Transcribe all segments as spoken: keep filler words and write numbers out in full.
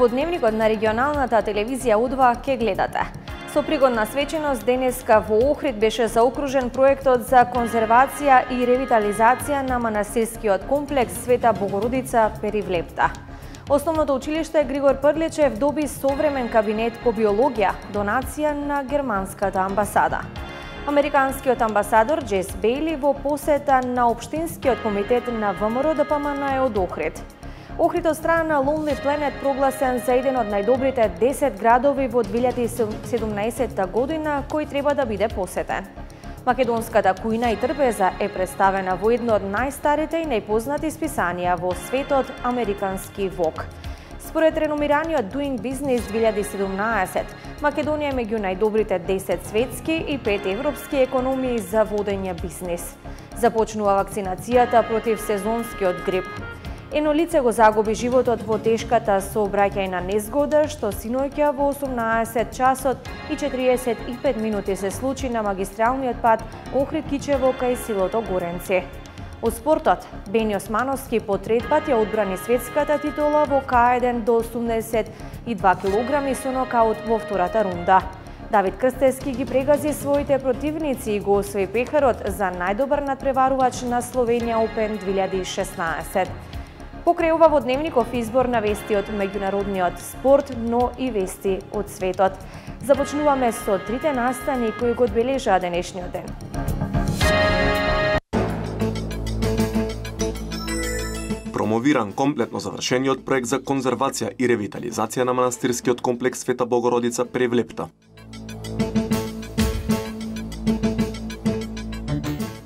во дневникот на регионалната телевизија У два ке гледате. Со пригодна свеченост денеска во Охрид беше заокружен проектот за конзервација и ревитализација на манастирскиот комплекс Света Богородица Перивлепта. Основното училиште Григор Прличев доби современ кабинет по биологија, донација на германската амбасада. Американскиот амбасадор Джес Бейли во посета на Општинскиот комитет на ВМРО Д П М Н е од Охрид. Охрид од страна на Lonely Planet прогласен за еден од најдобрите десет градови во две илјади и седумнаесетта година кој треба да биде посетен. Македонската кујна и трпеза е представена во едно од најстарите и најпознати списанија во светот, Американски Вог. Според реномираниот Doing Business две илјади и седумнаесет, Македонија е меѓу најдобрите десет светски и пет европски економии за водење бизнис. Започнува вакцинацијата против сезонскиот грип. Едно лице го загуби животот во тешката сообраќајна незгода, што синоќа во осумнаесет часот и четириесет и пет минути се случи на магистралниот пат Охрид-Кичево кај селото Горенци. Од спортот, Бени Османовски по трет пат ја одбрани светската титула во К еден до осумдесет и два килограми со нокаут во втората рунда. Давид Крстевски ги прегази своите противници и го освои пехарот за најдобар надпреварувач на Словенија Опен две илјади и шеснаесет. Покрај ова во дневников избор на вести од меѓународниот спорт, но и вести од светот. Започнуваме со трите настани кои го одбележаа денешниот ден. Промовиран комплетно завршениот проект за конзервација и ревитализација на манастирскиот комплекс Света Богородица Перивлепта.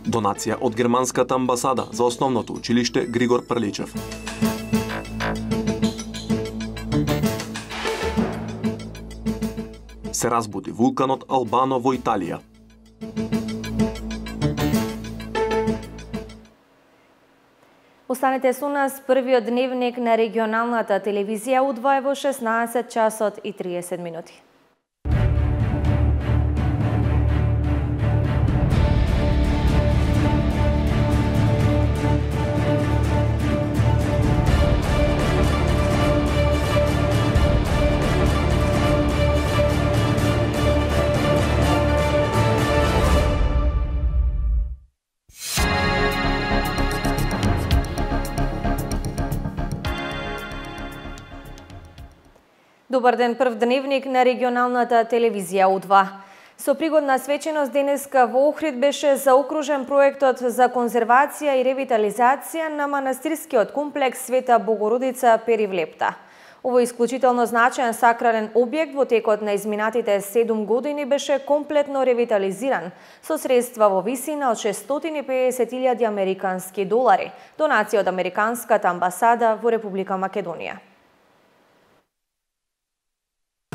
Донација од германската амбасада за основното училиште Григор Прличев. Се разбуди вулканот Албано во Италија. Останете со нас, првиот дневник на регионалната телевизија У два е во шеснаесет часот и триесет минути. Добар ден, прв дневник на регионалната телевизија У два. Со пригодна свеченост денеска во Охрид беше заокружен проектот за конзервација и ревитализација на манастирскиот комплекс Света Богородица Перивлепта. Овој исклучително значаен сакрален објект во текот на изминатите седум години беше комплетно ревитализиран со средства во висина од шестстотини и педесет илјади американски долари, донација од Американската амбасада во Република Македонија.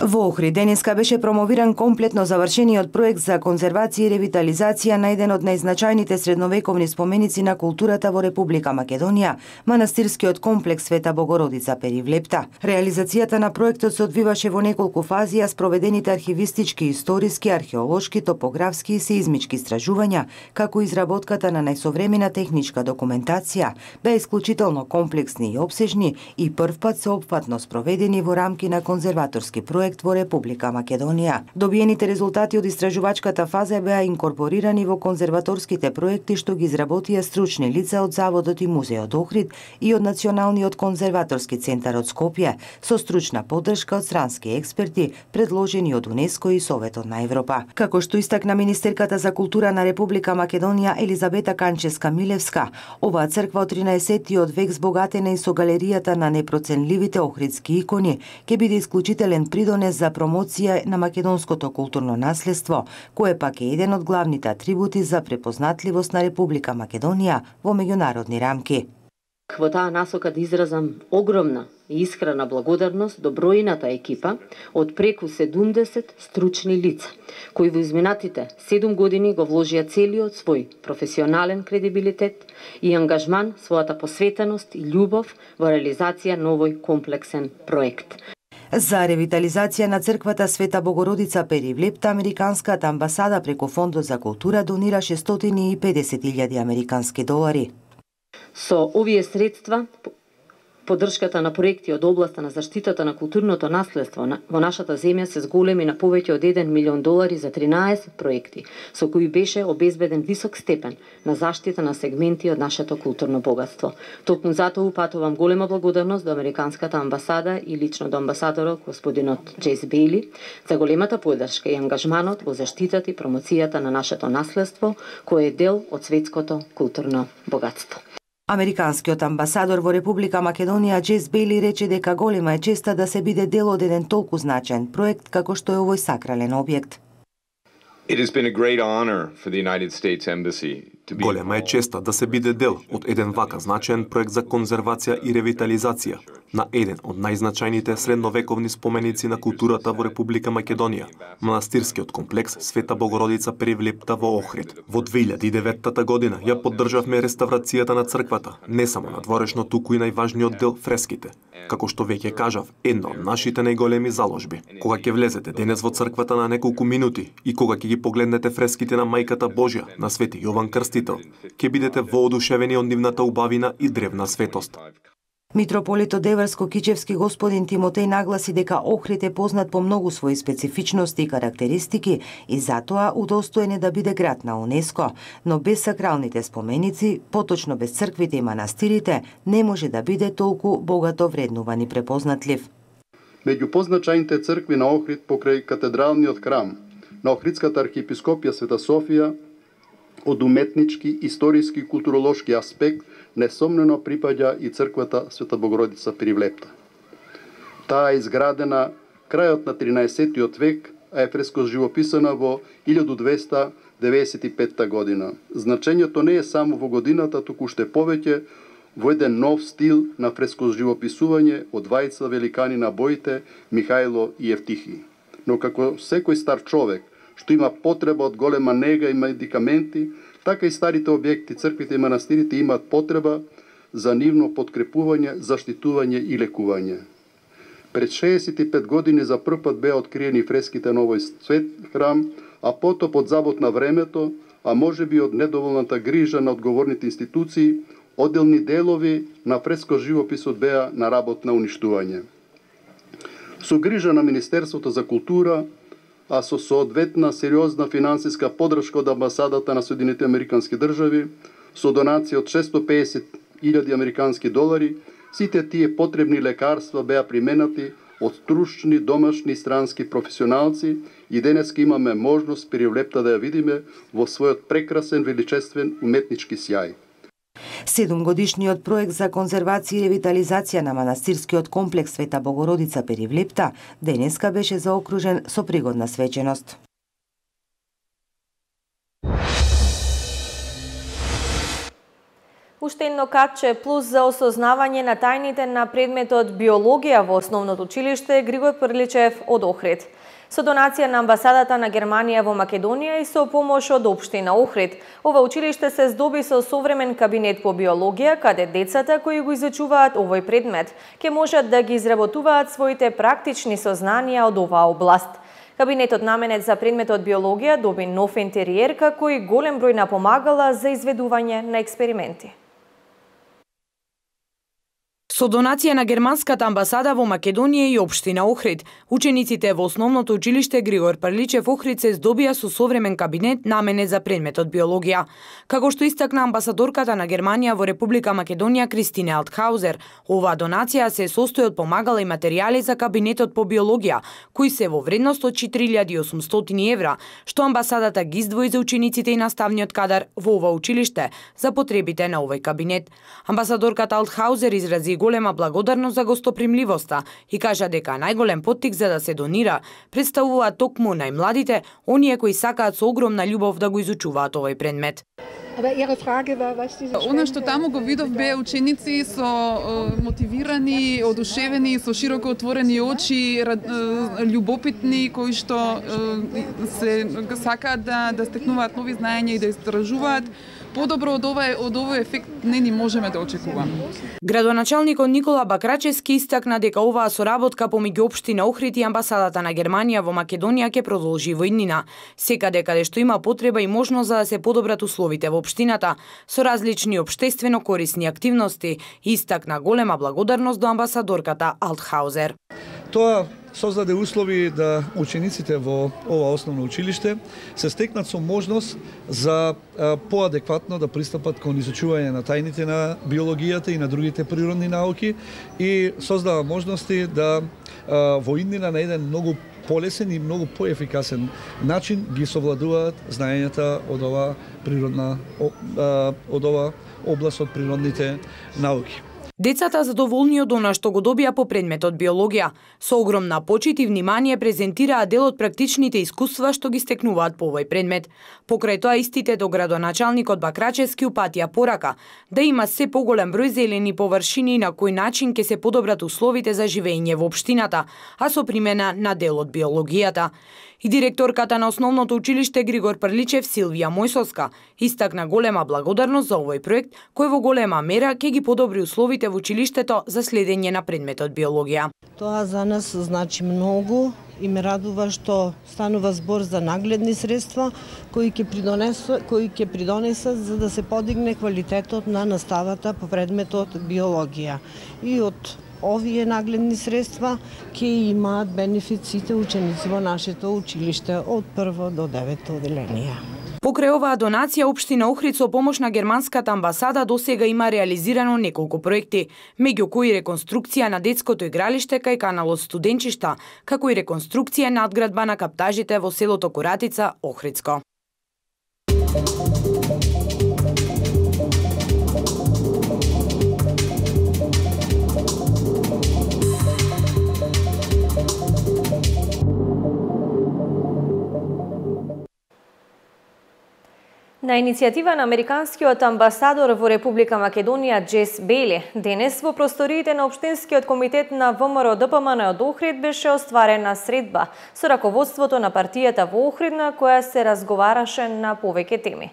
Во Охрид денеска беше промовиран комплетно завршениот проект за конзервација и ревитализација на еден од најзначајните средновековни споменици на културата во Република Македонија, манастирскиот комплекс Света Богородица Перивлепта. Реализацијата на проектот се одвиваше во неколку фази, а спроведените архивистички, историски, археолошки, топографски и сеизмички истражувања, како изработката на најсовремена техничка документација, беа исклучително комплексни и опсежни и првпат сеопфатно спроведени во рамки на конзерваторски проект во Република Македонија. Добиените резултати од истражувачката фаза беа инкорпорирани во конзерваторските проекти што ги изработија стручни лица од Заводот и Музеот Охрид и од Националниот конзерваторски центар од Скопје, со стручна поддршка од странски експерти, предложени од УНЕСКО и Советот на Европа. Како што истакна министерката за култура на Република Македонија Елизабета Канческа-Милевска, оваа црква од тринаесеттиот век збогатена и со галеријата на непроценливите охридски икони, ќе биде исклучителен придонес за промоција на македонското културно наследство, кое пак е еден од главните атрибути за препознатливост на Република Македонија во меѓународни рамки. Во таа насока да изразам огромна и искрена благодарност до бројната екипа од преку седумдесет стручни лица, кои во изминатите седум години го вложија целиот свој професионален кредибилитет и ангажман, својата посветеност и љубов во реализација на овој комплексен проект. За ревитализација на црквата Света Богородица Перивлепта, Американската амбасада преку Фондот за култура донира шестстотини и педесет илјади американски долари. Со овие средства Поддршката на проекти од областа на заштитата на културното наследство во нашата земја се зголеми на повеќе од еден милион долари за тринаесет проекти, со кои беше обезбеден висок степен на заштита на сегменти од нашето културно богатство. Токму затоа упатувам голема благодарност до Американската амбасада и лично до амбасадорот господинот Джейс Бейли за големата поддршка и ангажманот во заштитата и промоцијата на нашето наследство, кое е дел од светското културно богатство. Американскиот амбасадор во Република Македонија Джейс Бейли рече дека голема е честа да се биде дел од еден толку значен проект како што е овој сакрален објект. It has been a great honor for the United States Embassy to be Голема е честа да се биде дел од еден вака значаен проект за конзервација и ревитализација на еден од најзначајните средновековни споменици на културата во Република Македонија, манастирскиот комплекс Света Богородица Перевлепта во Охрид. Во две илјади и деветта година ја поддржавме реставрацијата на црквата, не само надворешно, туку и најважниот дел фреските. Како што веќе кажав, една од нашите најголеми заложби. Кога ќе влезете денес во црквата на неколку минути и кога ќе ги погледнете фреските на Мајката Божја, на Свети Јован Крстител, ќе бидете воодушевени од нивната убавина и древна светост. Митрополитот Деварско-Кичевски господин Тимотеј нагласи дека Охрид е познат по многу своји специфичности и карактеристики и затоа удостоен е да биде град на УНЕСКО, но без сакралните споменици, поточно без црквите и манастирите, не може да биде толку богато вреднуван и препознатлив. Меѓу позначајните цркви на Охрид покрај катедралниот храм на Охридската архиепископија Света Софија, од уметнички, историски и културолошки аспект, несомнено припаѓа и црквата Света Богородица Перевлепта. Таа е изградена крајот на тринаесеттиот век, а е фреско живописана во илјада двеста деветдесет и петта година. Значењето не е само во годината, туку уште повеќе во еден нов стил на фреско живописување од двајца великани на боите Михајло и Евтихи. Но како секој стар човек што има потреба од голема нега и медикаменти, така и старите објекти, црквите и манастирите имаат потреба за нивно подкрепување, заштитување и лекување. Пред шеесет и пет години за прв пат беа откриени фреските на овој свет храм, а потоп од забот на времето, а може би од недоволната грижа на одговорните институции, одделни делови на фреско живописот беа на работ на уништување. Со грижа на Министерството за култура, а со соодветна сериозна финансиска поддршка од амбасадата на Соединетите Американски држави, со донација од шестоста и педесет илјади американски долари, сите тие потребни лекарства беа применати од стручни домашни и странски професионалци и денеска имаме можност Перевлепта да ја видиме во својот прекрасен, величествен уметнички сјај. Седумгодишниот проект за конзервација и ревитализација на манастирскиот комплекс Света Богородица Перевлепта денеска беше заокружен со пригодна свеченост. Уште едно катче плюс за осознавање на тајните на предметот биологија во основното училиште Григор Прличев од Охрид. Со донација на амбасадата на Германија во Македонија и со помош од општина Охрид, ова училиште се здоби со современ кабинет по биологија, каде децата кои го изучуваат овој предмет ќе можат да ги изработуваат своите практични сознанија од оваа област. Кабинетот наменет за предметот биологија доби нов интериер, како и голем број на помагала за изведување на експерименти. Со донација на Германската амбасада во Македонија и општина Охрид, учениците во основното училиште Григор Прличев Охрид се здобија со современ кабинет наменет за предметот биологија. Како што истакна амбасадорката на Германија во Република Македонија Кристине Алтхаузер, оваа донација се состои од помагала и материјали за кабинетот по биологија, кои се во вредност од четири илјади и осумстотини евра, што амбасадата ги издвои за учениците и наставниот кадар во ова училиште за потребите на овој кабинет. Амбасадорката Алтхаузер изрази голема благодарност за гостопримливоста и кажа дека најголем поттик за да се донира представуваат токму најмладите, оние кои сакаат со огромна љубов да го изучуваат овој предмет. Она што таму го видов беа ученици со е, мотивирани, одушевени, со широко отворени очи, љубопитни, кои што е, се сакаат да, да стекнуваат нови знаења и да истражуваат. Подобро од овој од овој ефект не ни можеме да очекуваме. Градоначалникот Никола Бакрачевски истакна дека оваа соработка помеѓу општина Охрид и амбасадата на Германија во Македонија ќе продолжи во иднина, секаде каде што има потреба и можност за да се подобрат условите во општината со различни општествено корисни активности и истакна голема благодарност до амбасадорката Алтхаузер. Тоа создаде услови да учениците во ова основно училиште се стекнат со можност за поадекватно да пристапат кон изучување на тајните на биологијата и на другите природни науки и создава можности да во иднина на еден многу полесен и многу поефикасен начин ги совладуваат знаењата од ова природна од ова област од природните науки. Децата задоволни од она што го добија по предметот биологија, со огромна почит и внимание презентираа дел од практичните искуства што ги стекнуваат по овој предмет. Покрај тоа истите до градоначалникот Бакрачевски упатија порака да има се поголем број зелени површини на кој начин ќе се подобрат условите за живење во општината, а со примена на дел од биологијата. И директорката на основното училиште Григор Прличев Силвија Мојсовска истакна голема благодарност за овој проект кој во голема мера ќе ги подобри условите во училиштето за следење на предметот биологија. Тоа за нас значи многу и ме радува што станува збор за нагледни средства кои ќе придонесат кои ќе придонесат за да се подигне квалитетот на наставата по предметот биологија. И од овие нагледни средства ќе имаат бенефиците ученици во нашето училиште од прво до девето оделение. Покрај оваа донација, општина Охрид со помош на германската амбасада досега има реализирано неколку проекти, меѓу кои реконструкција на детското игралиште кај каналот Студенчишта, како и реконструкција надградба на каптажите во селото Коратица, Охридско. На иницијатива на американскиот амбасадор во Република Македонија Джес Бейли, денес во просториите на Општинскиот комитет на ВМРО-ДПМН од Охрид беше остварена средба со раководството на партијата во Охрид на која се разговараше на повеќе теми.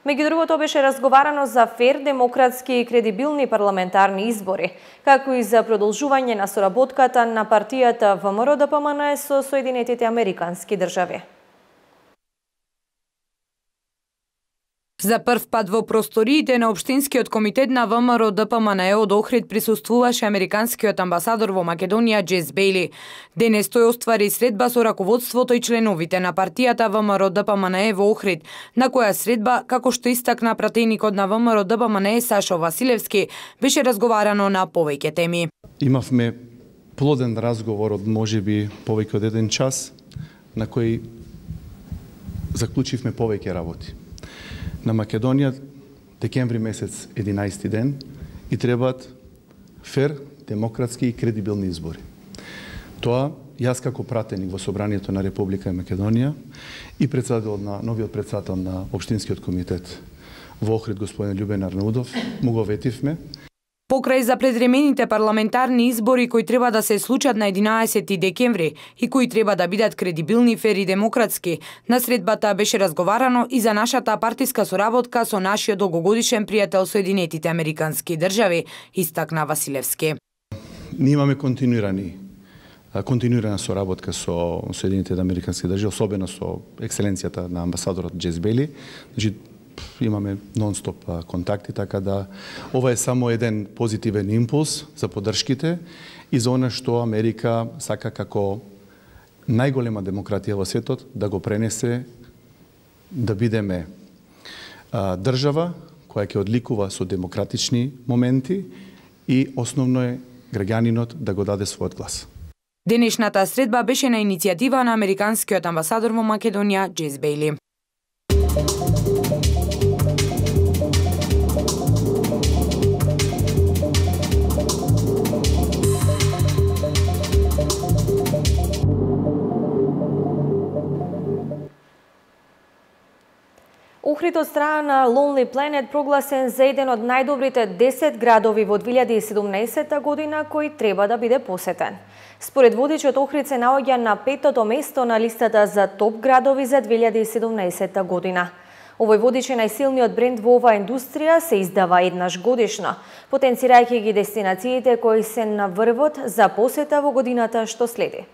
Меѓу другото беше разговарано за фер, демократски и кредибилни парламентарни избори, како и за продолжување на соработката на партијата ВМРО-ДПМН со Соединетите Американски држави. За прв пат во просториите на Општинскиот комитет на ВМРО-ДПМН од Охрид присуствуваше американскиот амбасадор во Македонија Джес Бейли. Денес тој оствари средба со раководството и членовите на партијата ВМРО-ДПМН во Охрид, на која средба, како што истакна пратеникот на ВМРО-ДПМН Сашо Василевски, беше разговарано на повеќе теми. Имавме плоден разговор од можеби повеќе од еден час, на кој заклучивме повеќе работи. На Македонија декември месец единаесети ден и требаат фер, демократски и кредибилни избори. Тоа јас како пратеник во Собранието на Република Македонија и председател на новиот председател на Општинскиот комитет во Охрид господин Љубен Арнаудов му го ветивме. Покрај за предремените парламентарни избори кои треба да се случат на единаесети декември и кои треба да бидат кредибилни, фер и демократски, на средбата беше разговарано и за нашата партиска соработка со нашиот долгогодишен пријател Соединетите Американски држави, истакна Василевски. Ние имаме континуирани континуирана соработка со Соединетите Американски држави, особено со екселенцијата на амбасадорот Джес Бейли. Значи, имаме нон-стоп контакти, така да ова е само еден позитивен импулс за поддршките и за она што Америка сака како најголема демократија во светот да го пренесе, да бидеме а, држава која ќе одликува со демократични моменти и основно е граѓанинот да го даде својот глас. Денешната средба беше на иницијатива на американскиот амбасадор во Македонија Джес Бейли. Охрид од страна на Lonely Planet прогласен за еден од најдобрите десет градови во две илјади и седумнаесета година кој треба да биде посетен. Според водичот, Охрид се наоѓа на петото место на листата за топ градови за две илјади и седумнаесета година. Овој водич е најсилниот бренд во оваа индустрија, се издава еднаш годишно, потенцирајќи ги дестинациите кои се на врвот за посета во годината што следи.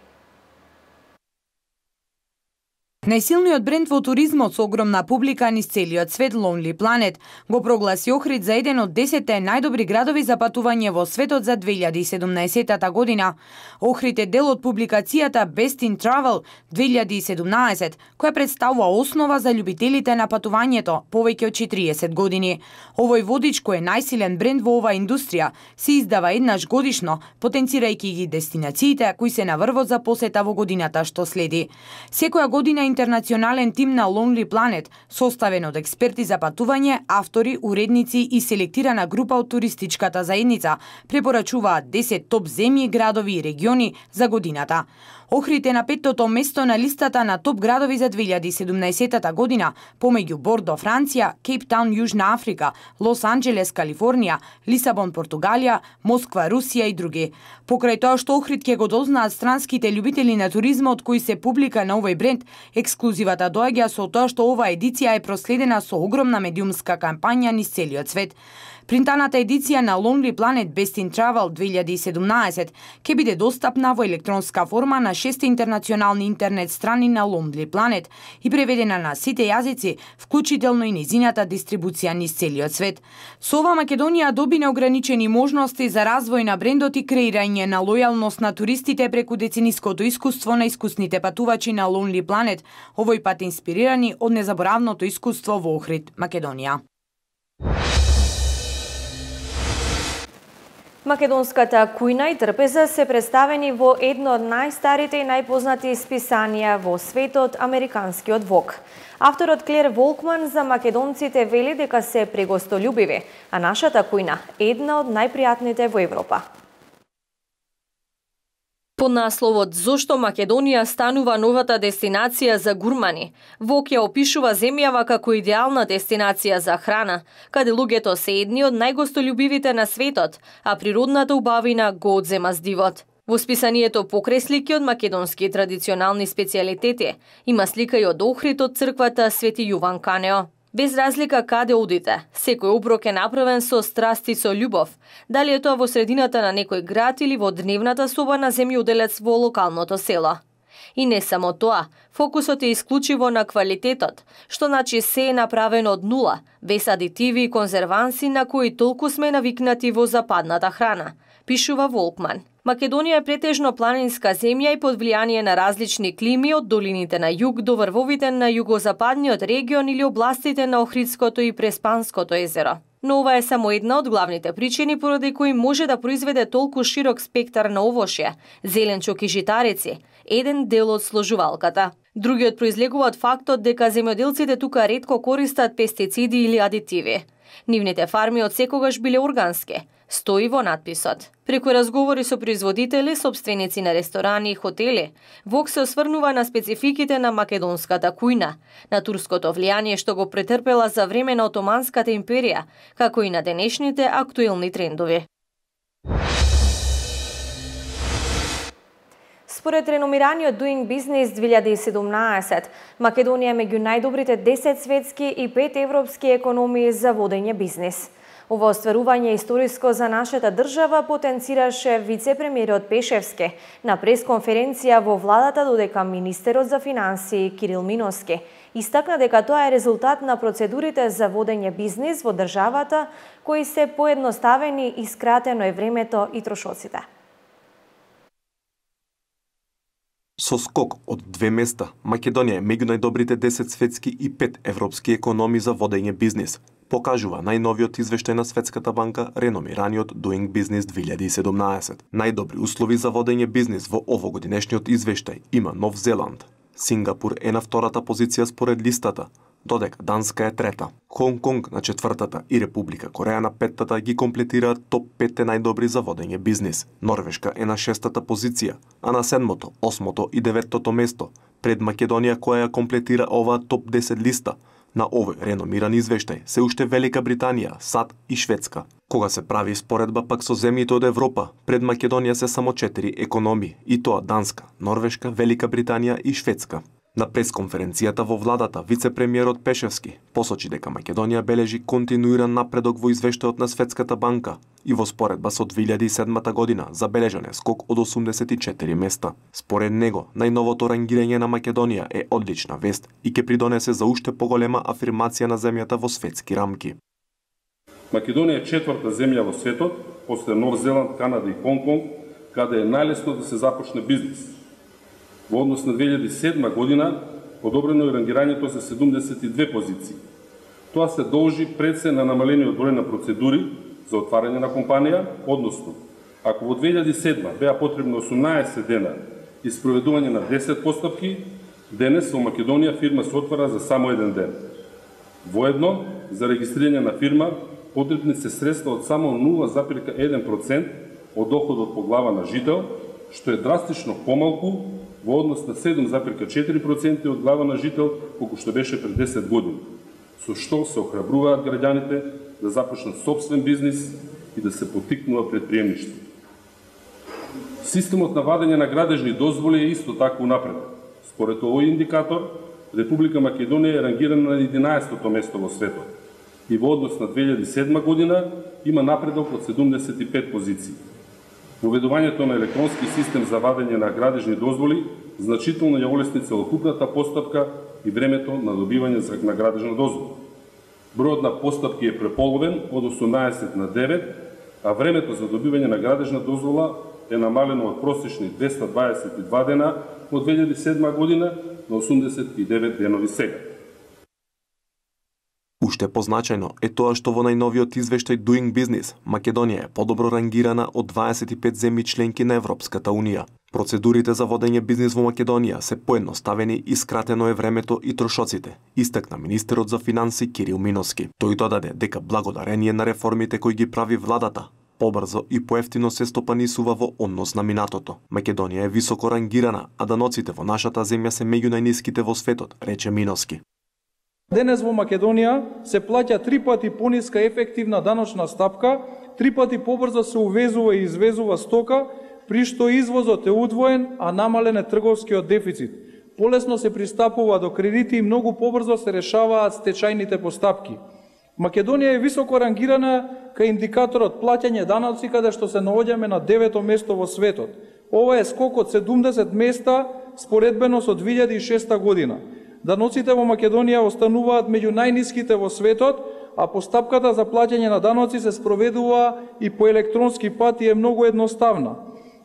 Најсилниот бренд во туризмот со огромна публика низ целиот свет, Lonely Planet, го прогласи Охрид за еден од десетте најдобри градови за патување во светот за две илјади и седумнаесетта година. Охрид е дел од публикацијата Best in Travel две илјади и седумнаесет, која представува основа за љубителите на патувањето повеќе од четириесет години. Овој водич, кој е најсилен бренд во оваа индустрија, се издава еднаш годишно, потенцирајќи ги дестинациите кои се на врвот за посета во годината што следи. Секоја година интернационален тим на Lonely Planet, составен од експерти за патување, автори, уредници и селектирана група од туристичката заедница, препорачуваат десет топ земји, градови и региони за годината. Охрид е на петтото место на листата на топ градови за две илјади и седумнаесетта година, помеѓу Бордо, Франција, Кейптаун, Јужна Африка, Лос Анџелес, Калифорнија, Лисабон, Португалија, Москва, Русија и други. Покрај тоа што Охрид ќе го дознаат странските љубители на туризмот кои се публика на овој бренд, ексклузивата доаѓа со тоа што оваа едиција е проследена со огромна медиумска кампања низ целиот свет. Принтаната едиција на Lonely Planet Best in Travel две илјади и седумнаесет ќе биде достапна во електронска форма на шест интернационални интернет страни на Lonely Planet и преведена на сите јазици, вклучително и низината дистрибуција низ целиот свет. Со ова Македонија доби неограничени можности за развој на брендот и креирање на лојалност на туристите преку децениското искуство на искусните патувачи на Lonely Planet, овој пат инспирирани од незаборавното искуство во Охрид, Македонија. Македонската кујна и трпеза се представени во едно од најстарите и најпознати списанија во светот, американскиот Vogue. Авторот Клер Волкман за македонците вели дека се прегостољубиви, а нашата кујна е една од најпријатните во Европа. Под насловот «Зошто Македонија станува новата дестинација за гурмани», Vogue ја опишува земјава како идеална дестинација за храна, каде луѓето се едни од најгостољубивите на светот, а природната убавина го одзема здивот. Во списанието покрај слики од македонски традиционални специјалитети, има слика и од Охрид од црквата Свети Јован Канео. Без разлика каде одите, секој оброк е направен со страст и со љубов, дали е тоа во средината на некој град или во дневната соба на земјоделец во локалното село. И не само тоа, фокусот е исклучиво на квалитетот, што значи се е направено од нула, без адитиви и конзерванси на кои толку сме навикнати во западната храна, пишува Волкман. Македонија е претежно планинска земја и под влијание на различни клими од долините на југ до врвовите на југозападниот регион или областите на Охридското и Преспанското езеро. Но ова е само една од главните причини поради кои може да произведе толку широк спектар на овошје, зеленчук и житарици, еден дел од сложувалката. Другиот произлегува од фактот дека земјоделците тука ретко користат пестициди или адитиви. Нивните фарми од секогаш биле органски, стои во надписот. Преку разговори со производители, собственици на ресторани и хотели, Vogue се осврнува на спецификите на македонската кујна, на турското влијание што го претрпела за време на Отоманската империја, како и на денешните актуелни трендови. Според реномираниот Doing Business две илјади и седумнаесет, Македонија е меѓу најдобрите десет светски и пет европски економии за водење бизнис. Ова остварување историско за нашата држава потенцираше вице-премиерот Пешевски на пресконференција во владата, додека министерот за финансии Кирил Миноски истакна дека тоа е резултат на процедурите за водење бизнис во државата, кои се поедноставени и скратено е времето и трошоците. Со скок од две места, Македонија е меѓу најдобрите десет светски и пет европски економии за водење бизнис, покажува најновиот извештај на Светската банка, реномираниот Doing Business две илјади и седумнаесет. Најдобри услови за водење бизнис во овогодинешниот извештај има Нов Зеланд. Сингапур е на втората позиција според листата, додека Данска е трета. Хонг Конг на четвртата и Република Кореја на петтата ги комплетираат топ пет најдобри за водење бизнис. Норвешка е на шестата позиција, а на седмото, осмото и деветото место, пред Македонија која ја комплетира оваа топ десет листа. На овој реномиран извештај се уште Велика Британија, САД и Шведска. Кога се прави споредба пак со земјите од Европа, пред Македонија се само четири економии, и тоа Данска, Норвешка, Велика Британија и Шведска. На пресконференцијата во владата, вице-премиерот Пешевски посочи дека Македонија бележи континуиран напредок во извештајот на Светската банка, и во споредба со две илјади и седма година забележан е скок од осумдесет и четири места. Според него, најновото рангирање на Македонија е одлична вест и ќе придонесе за уште поголема афирмација на земјата во светски рамки. Македонија е четврта земја во светот, после Нов Зеланд, Канада и Хонг-Конг, каде е најлесно да се започне бизнис. Во однос на две илјади и седма година, подобрено е рангирањето за седумдесет и две позиции. Тоа се должи пред се на намалениот број на процедури за отварање на компанија, односно, ако во две илјади и седма беа потребни осумнаесет дена и спроведување на десет постапки, денес во Македонија фирма се отвара за само еден ден. Воедно, за регистрирање на фирма, потребни се средства од само нула запирка еден процент од доходот по глава на жител, што е драстично помалку во однос на седум запирка четири проценти од глава на жител, колку што беше пред десет години, со што се охрабруваат граѓаните да започнат собствен бизнис и да се поттикнува предприемништво. Системот на вадење на градежни дозволи е исто така унапред. Според овој индикатор, Република Македонија е рангирана на единаесетото место во светот и во однос на две илјади и седма година има напредок од седумдесет и пет позиции. Воведувањето на електронски систем за вадење на градежни дозволи значително ја олесни целокупната постапка и времето на добивање на градежна дозвола. Бројот на постапки е преполовен од осумнаесет на девет, а времето за добивање на градежна дозвола е намалено од просечни двеста дваесет и два дена од две илјади и седма година на осумдесет и девет денови сега. Уште позначајно е тоа што во најновиот извештај Doing Business, Македонија е подобро рангирана од дваесет и пет земји членки на Европската Унија. Процедурите за водење бизнис во Македонија се поедноставени и скратено е времето и трошоците, истакна министерот за финанси Кирил Миноски. Тој додаде дека благодарение на реформите кои ги прави владата, побрзо и поевтино се стопанисува во однос на минатото. Македонија е високо рангирана, а даноците во нашата земја се меѓу најниските во светот, рече Миноски. Денес во Македонија се плаќа три пати пониска ефективна даночна стапка, три пати побрзо се увезува и извезува стока, при што извозот е удвоен, а намален е трговскиот дефицит. Полесно се пристапува до кредити и многу побрзо се решаваат стечајните постапки. Македонија е високо рангирана кај индикаторот плаќање даноци, каде што се наоѓаме на девето место во светот. Ова е скок од седумдесет места споредбено со две илјади и шеста година. Даноците во Македонија остануваат меѓу најниските во светот, а постапката за плаќање на даноци се спроведува и по електронски пат и е многу едноставна.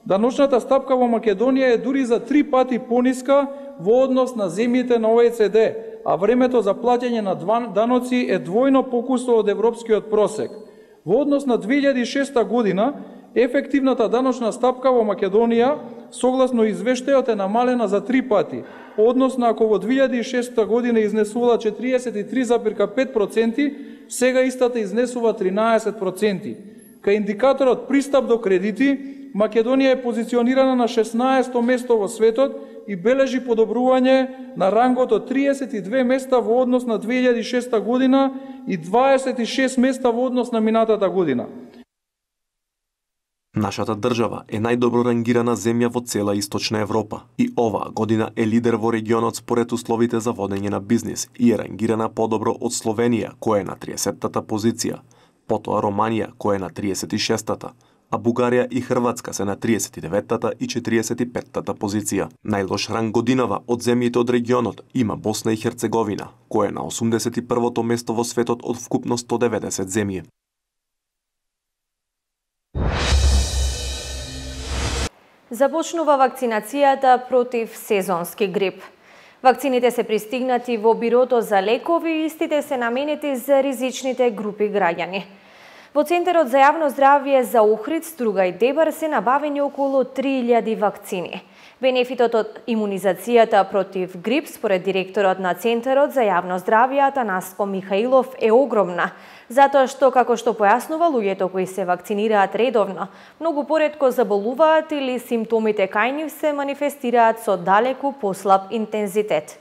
Даночната стапка во Македонија е дури за три пати пониска во однос на земјите на О Е Це Де, а времето за плаќање на даноци е двојно покусо од европскиот просек. Во однос на две илјади и шеста година, ефективната даночна стапка во Македонија, согласно извештајот, е намалена за три пати, односно ако во две илјади и шеста година изнесувала четириесет и три запирка пет проценти, сега истата изнесува тринаесет проценти. Кај индикаторот пристап до кредити, Македонија е позиционирана на шеснаесето место во светот и бележи подобрување на рангот од триесет и две места во однос на две илјади и шеста година и дваесет и шест места во однос на минатата година. Нашата држава е најдобро рангирана земја во цела Источна Европа и оваа година е лидер во регионот според условите за водење на бизнис и е рангирана подобро од Словенија, која е на триесеттата позиција, потоа Романија, која е на триесет и шестата, а Бугарија и Хрватска се на триесет и деветата и четириесет и петтата позиција. Најлош ранг годинава од земјите од регионот има Босна и Херцеговина, која е на осумдесет и првото место во светот од вкупно сто деветдесет земји. Започнува вакцинацијата против сезонски грип. Вакцините се пристигнати во Бирото за лекови и истите се наменети за ризичните групи граѓани. Во Центарот за јавно здравје за Охрид, Струга и Дебар се набавени околу три илјади вакцини. Бенефитот од имунизацијата против грип, според директорот на Центарот за јавно здравје Атанаско Михаилов, е огромна, затоа што, како што појаснува, луѓето кои се вакцинираат редовно, многу поретко заболуваат или симптомите кај нив се манифестираат со далеку послаб интензитет.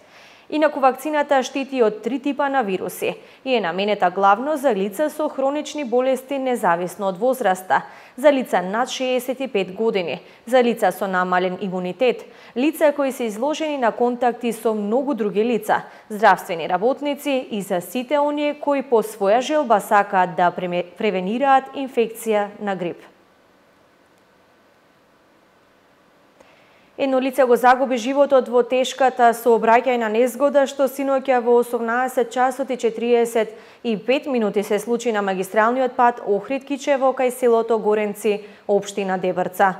Инаку вакцината штити од три типа на вируси и е наменета главно за лица со хронични болести независно од возраста, за лица над шеесет и пет години, за лица со намален имунитет, лица кои се изложени на контакти со многу други лица, здравствени работници и за сите оние кои по своја желба сакаат да превенираат инфекција на грип. Едно лице го загуби животот во тешката сообраќајна незгода што синоќа во осумнаесет часот и четириесет и пет минути се случи на магистралниот пат Охрид-Кичево кај селото Горенци, општина Дебрца.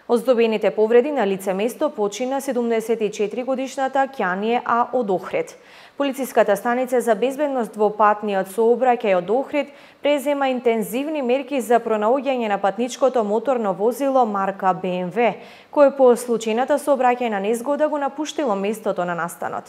Оздобените повреди на лице место почина седумдесет и четири годишната Ќание А од Охрид. Полициската станица за безбедност во патниот сообраќај од Охрид презема интензивни мерки за пронаоѓање на патничкото моторно возило марка Б М В, кое по случајната сообраќајна незгода го напуштило местото на настанот.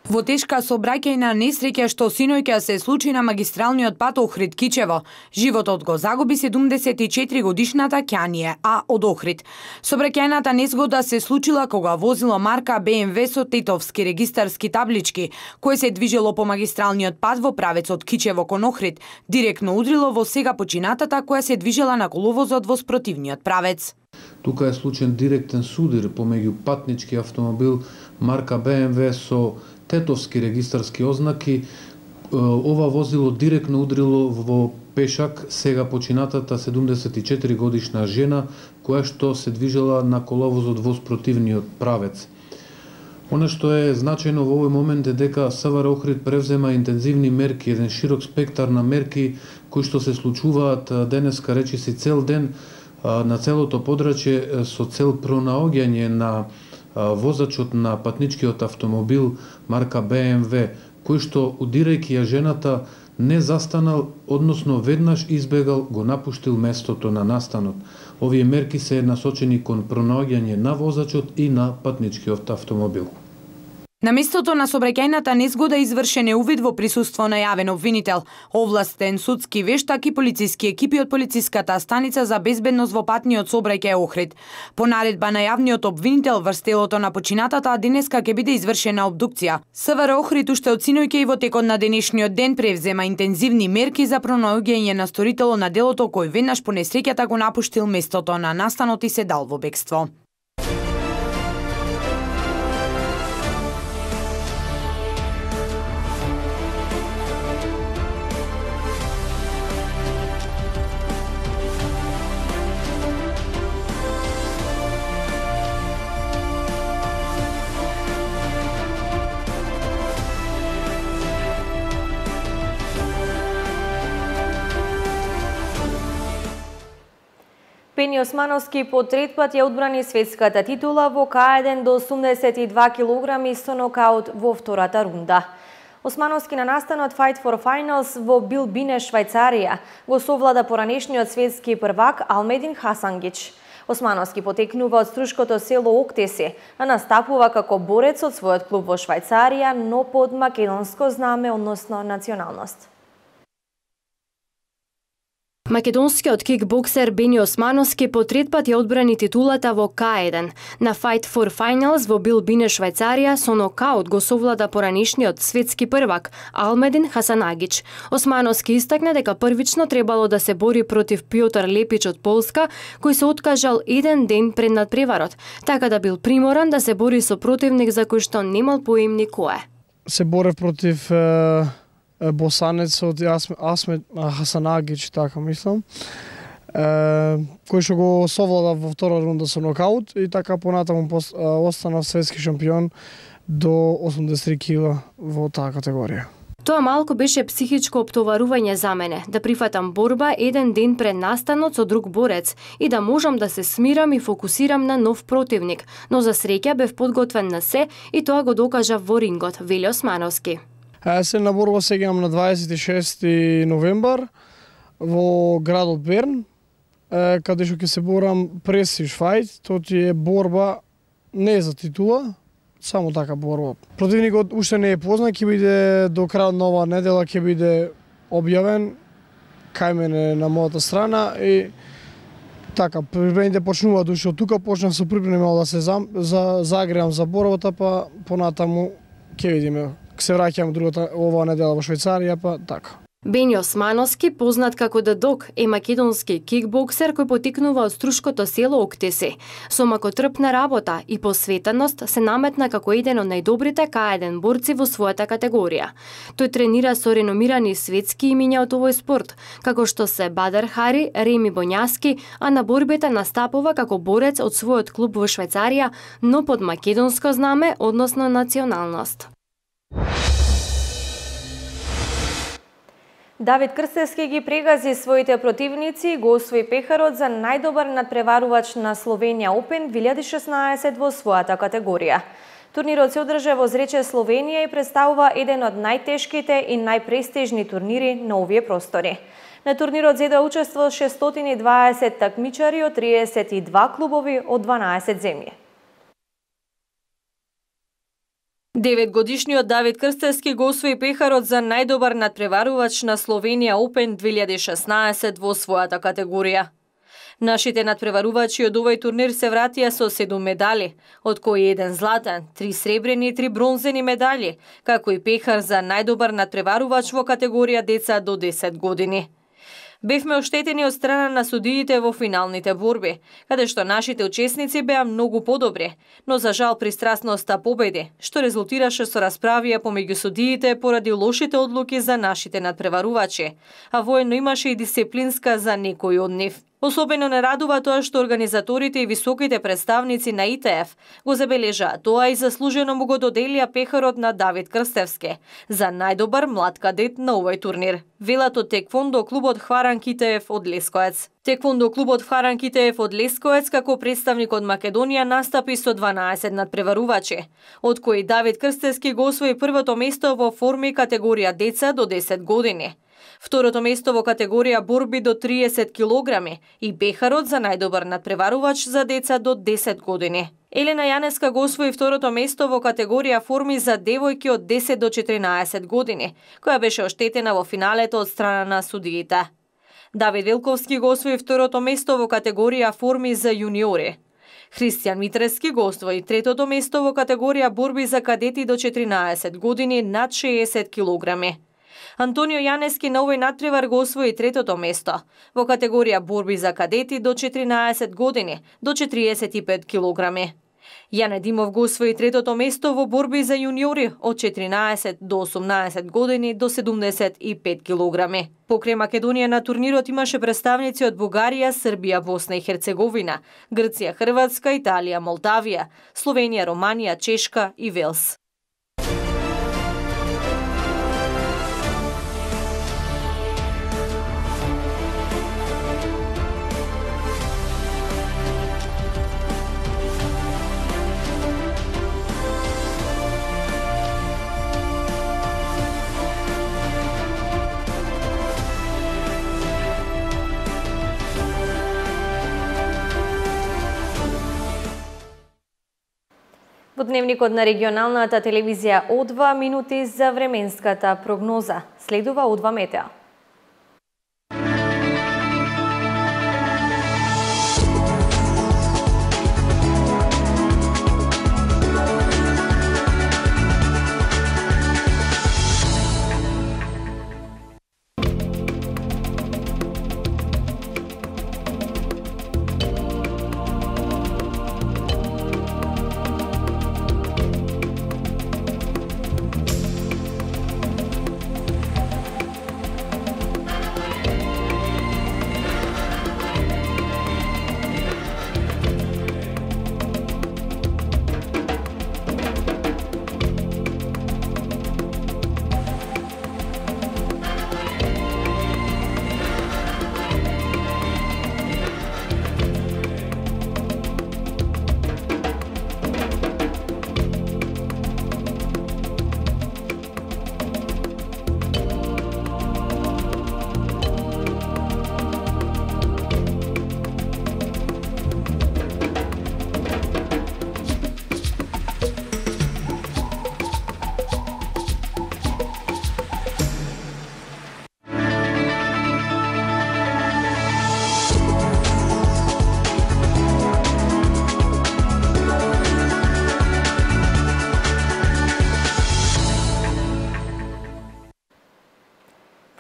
Во тешка сообраќајна несреќа што синоќа се случи на магистралниот пат Охрид-Кичево, животот го загуби седумдесет и четири годишната Ќание А од Охрид. Сообраќајната незгода се случила кога возило марка Б М В со тетовски регистарски таблички, кое се движело по магистралниот пат во правецот Кичево кон Охрид, директно удрило во сега починатата која се движела на коловозот во спротивниот правец. Тука е случен директен судир помеѓу патнички автомобил марка Б М В со тетовски регистарски ознаки. Ова возило директно удрило во пешак сега починатата седумдесет и четири годишна жена која што се движела на коловозот во спротивниот правец. Она што е значајно во овој момент е дека С В Р Охрид превзема интензивни мерки, еден широк спектар на мерки кои што се случуваат денеска речиси цел ден на целото подрачје со цел пронаоѓање на возачот на патничкиот автомобил марка Б М В, кој што удирајќи ја жената не застанал, односно веднаш избегал, го напуштил местото на настанот. Овие мерки се насочени кон пронаоѓање на возачот и на патничкиот автомобил. На местото на сообраќајната незгода извршен е увид во присуство на јавен обвинител, овластен судски вештак и полициски екипи од полициската станица за безбедност во патниот сообраќај Охрид. По наредба на јавниот обвинител врз телото на починатата денеска ќе биде извршена обдукција. С В Р Охрид уште од синоќа и во текот на денешниот ден превзема интензивни мерки за пронаоѓање на сторителот на делото кој веднаш по несреќата го напуштил местото на настанот и се дал во бегство. Пени Османовски по трет пат ја одбрани светската титула во К еден до осумдесет и два килограми со нокаут во втората рунда. Османовски на настанот Fight for Finals во Билбине, Швајцарија, го совлада поранешниот светски првак Алмедин Хасангич. Османовски потекнува од струшкото село Октеси, а настапува како борец од својот клуб во Швајцарија, но под македонско знаме, односно националност. Македонскиот кикбоксер Бени Османовски по трет пат ја одбрани титулата во К еден. На Fight for Finals во Билбине, Швајцарија, со нокаут го совлада поранешниот светски првак Алмедин Хасанагич. Османовски истакна дека првично требало да се бори против Пјотар Лепич од Полска, кој се откажал еден ден пред надпреварот, така да бил приморан да се бори со противник за кој што немал поимни кој. Се борев против е... босанец од Асмет Хасанагич, така мислам, е, кој што го совлада во втора рунда со нокаут и така понатаму останав светски шампион до осумдесет и три кила во таа категорија. Тоа малку беше психичко оптоварување за мене, да прифатам борба еден ден пред настанот со друг борец и да можам да се смирам и фокусирам на нов противник, но за среќа бев подготвен на се и тоа го докажав во рингот, вели Османовски. Се на борба сега на дваесет и шести новембар во градот Берн, каде што ќе се борам престиж фајт, тоа ти е борба не за титула, само така борба. Противникот уште не е познат, ќе биде до крајот на оваа недела ќе биде објавен кај мене на мојата страна и Така, приправите почнуваат уште од тука, почнав со приправи да се зам, за загреам за боровата, па понатаму ќе видиме. Се враќам другата оваа недела во Швајцарија, па така. Бенјо Османовски, познат како Дадок, е македонски кикбоксер кој потикнува од струшкото село Октеси. Со макотрпна работа и посветеност се наметна како еден од најдобрите К еден борци во својата категорија. Тој тренира со реномирани светски имиња од овој спорт, како што се Бадер Хари, Реми Боњаски, а на борбите настапува како борец од својот клуб во Швајцарија, но под македонско знаме, односно националност. Давид Крстевски ги прегази своите противници и го освои пехарот за најдобар надпреварувач на Словенија Open две илјади и шеснаесет во својата категорија. Турнирот се одржа во Зрече, Словенија и представува еден од најтешките и најпрестижни турнири на овие простори. На турнирот зедоа учество шестстотини и дваесет такмичари од триесет и два клубови од дванаесет земји. Деветгодишниот Давид Крстевски го освои пехарот за најдобар надпреварувач на Словенија Open две илјади и шеснаесет во својата категорија. Нашите надпреварувачи од овој турнир се вратија со седум медали, од кои еден златен, три сребрени и три бронзени медали, како и пехар за најдобар надпреварувач во категорија деца до десет години. Бевме оштетени од страна на судиите во финалните борби, каде што нашите учесници беа многу подобри, но за жал пристрасноста победи, што резултираше со расправија помеѓу судиите поради лошите одлуки за нашите надпреварувачи, а воено имаше и дисциплинска за некои од нив. Особено не радува тоа што организаторите и високите представници на И Т Ф го забележаа тоа и заслужено му го доделија пехарот на Давид Крстевски за најдобар млад кадет на овој турнир. Велат од Теквондо клубот Хваран Ки Т Ф од Лесковец. Теквондо клубот Хваран Ки Т Ф од Лесковец како представник од Македонија настапи со дванаесет надпреварувачи, од кои Давид Крстевски го освои првото место во форми категорија деца до десет години. Второто место во категорија борби до триесет килограми и пехарот за најдобар надпреварувач за деца до десет години. Елена Јанеска го освои второто место во категорија форми за девојки од десет до четиринаесет години, која беше оштетена во финалето од страна на судиите. Давид Велковски го освои второто место во категорија форми за јуниори. Христијан Митрески го освои третото место во категорија борби за кадети до четиринаесет години над шеесет килограми. Антонио Јанески на овој надпревар го освои третото место во категорија борби за кадети до четиринаесет години до четириесет и пет килограми. Јане Димов го освои третото место во борби за јуниори од четиринаесет до осумнаесет години до седумдесет и пет килограми. Покрај Македонија на турнирот имаше представници од Бугарија, Србија, Босна и Херцеговина, Грција, Хрватска, Италија, Молдавија, Словенија, Романија, Чешка и Велс. Во дневникот на регионалната телевизија О два минути за временската прогноза. Следува О два Метеа.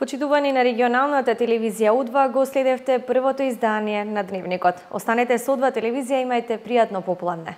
Почитувани на регионалната телевизија У два, го следевте првото издание на Дневникот. Останете со У два телевизија, имајте пријатно попладне.